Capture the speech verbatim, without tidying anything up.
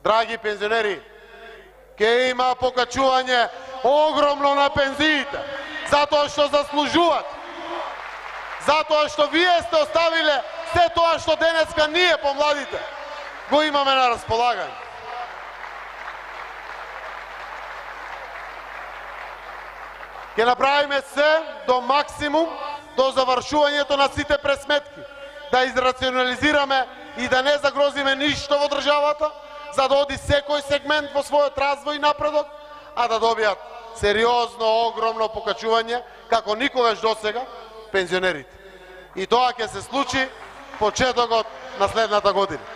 Драги пензионери, ке има покачување огромно на пензиите, затоа што заслужуваат, затоа што вие сте оставиле се тоа што денеска ние помладите го имаме на располагање. Ке направиме се до максимум до завршувањето на сите пресметки, да израционализираме и да не загрозиме ништо во државата, за да оди секој сегмент во својот развој и напредок, а да добијат сериозно, огромно покачување, како никогаш досега, пензионерите. И тоа ќе се случи почетокот на следната година.